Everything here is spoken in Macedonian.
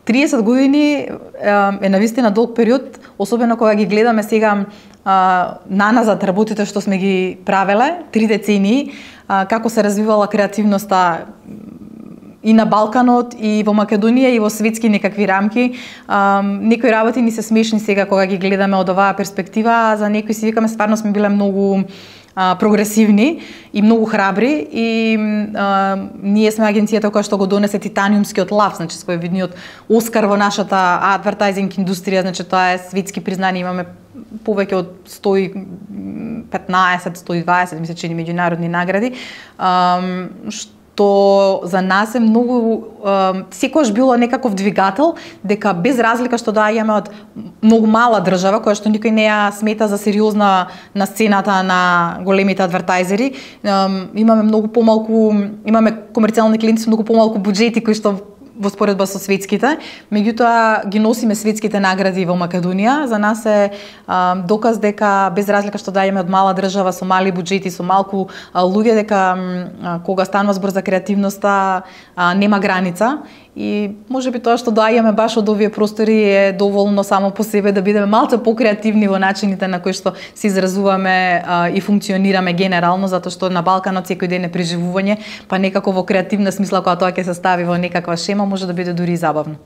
30 години е навистина долг период, особено кога ги гледаме сега наназад работите што сме ги правеле, 3 децении, како се развивала креативноста и на Балканот, и во Македонија, и во светски некакви рамки. Некои работи ни се смешни сега кога ги гледаме од оваа перспектива, а за некои си викаме стварно сме биле многу прогресивни и многу храбри, и ние сме агенцијата која што го донесе титаниумскиот лав, значи своевидниот Оскар во нашата адвертајзинг индустрија, значи тоа е светски признание, имаме повеќе од 115-120, мисля че меѓународни награди, што за нас е многу, секогаш било некаков двигател, дека без разлика што доаѓаме од многу мала држава, која што никој не ја смета за сериозна на сцената на големите адвертајзери, имаме многу помалку, имаме комерцијални клиенти со многу помалку буџети кои што во споредба со светските, меѓутоа ги носиме светските награди во Македонија. За нас е доказ дека без разлика што доаѓаме од мала држава со мали буџети, со малку луѓе, дека кога станува збор за креативноста нема граница, и можеби тоа што доаѓаме баш од овие простори е доволно само по себе да бидеме малку покреативни во начините на кои што се изразуваме и функционираме генерално, затоа што на Балканот секој ден е преживување, па некако во креативна смисла кога тоа ќе се стави во некаква шема може да биде дури и забавно.